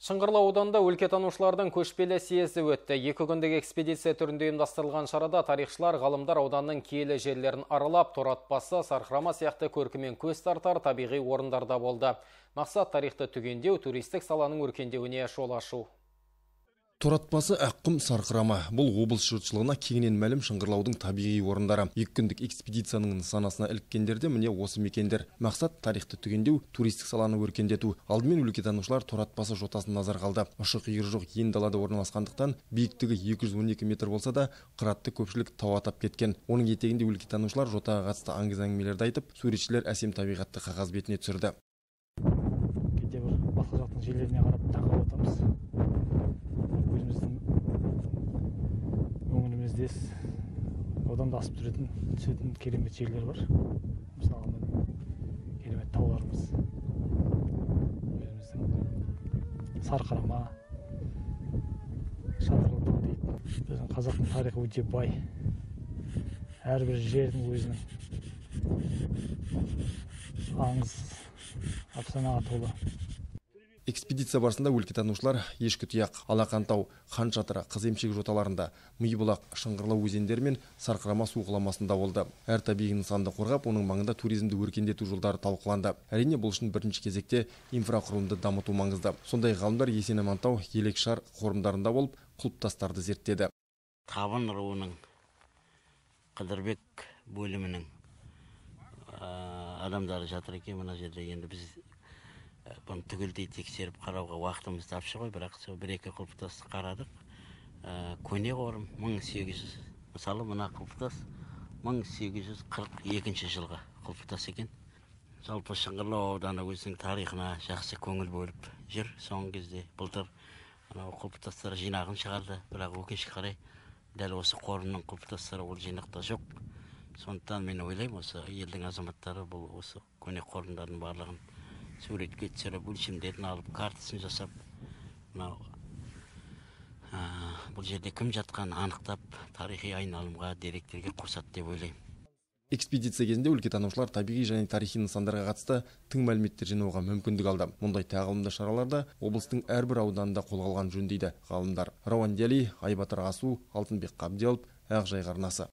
Шыңғырлау ауданында өлкетанушылардың көшпелі съезі өтті. 2 күндік экспедиция түрінде ұйымдастырылған шарада тарихшылар, ғалымдар ауданның киелі жерлерін аралап, Торатпасы, Сарқырама сияқты көркімен көз тартар табиғи орындарда болды. Мақсат тарихты түгендеу, туристік саланың өркендеуіне жол ашу. Торатпасы, Аққұм, Сарқырама. Бұл облыс жұртшылығына кеңінен мәлім Шыңғырлаудың табиғи орындары. 2 күндік экспедицияның нысанасына іліккендерде міне осы мекендер. Мақсат тарихты түгендеу, туристік саланы өркендету. Алдымен өлкетанушылар Торатпасы жотасын назарға алды. Ұшы-қиыры жоқ ен далада орналасқандықтан биіктігі 212 метр болса да, қыратты көпшілік тау атап кеткен. Оның етегінде өлкетанушылар жотаға қатысты аңыз-әңгімелерді айтып, суретшілер әсем табиғатты қағаз бетіне түсірді. Кейде бір басқа жақтың жерлеріне қарап таңғалып отырмыз. Өзіміздің өңіріміздес одан да асып түсетін керемет жерлер бар. Мысалы керемет тауларымыз. Өзіміздің Сарқырама, Шатырлы тау дейді. Біздің қазақтың тарихы өте бай. Әрбір жердің өзінің аңыз, афсанаға толы. Экспедиция барысында өлкетанушылар Ешкітұяқ, Алақантау, Хан Шатыры, Қыземшек жоталарында, Миыбұлақ, Шыңғырлау өзендері мен Сарқырама су құламасында болды. Әр табиғи нысанды қорғап, оның маңында туризмді өркендету жолдары талқыланды. Әрине бұл үшін бірінші кезекте инфрақұрылымды дамыту маңызды. Сондай ғалымдар Есен-Амантау, Елекшар қорымдарында болып, құлпытастарды зерттеді. Табын руының Қыдырбек бөлімінің адамдары жатыр екен мына жерде. Енді біз бұны түгелдей тексеріп қарауға уақытымыз тапшы ғой, бірақ сол 1-2 құлпытасты қарадық. Көне қорым 1800, мысалы мына құлпытас 1842 жылғы құлпытас екен. Жалпы Шыңғырлау ауданы өзінің тарихына жақсы көңіл бөліп жүр. Соңғы кезде былтыр құлпытастар жинағын шығарды, бірақ өкінішке қарай дәл осы қорымның құлпытастары ол жинақта жоқ. Сондықтан мен ойлаймын, осы елдің азаматтары бұл осы көне қорымдардың барлығын суретке түсіріп, өлшемдерін алып, картасын жасап, бұл жерде кім жатқанын анықтап, тарихи айналымға, деректерге қосады деп ойлаймын. Экспедиция кезінде өлкетанушылар табиғи және тарихи нысандарға қатысты тың мәліметтер жинауға мүмкіндік алды. Мұндай тағылымды шараларда облыстың әрбір ауданында қолға алған жөн дейді ғалымдар. Рауан Дияли, Айбатыр Асу, Алтынбек Қабделов, Ақжайық арнасы.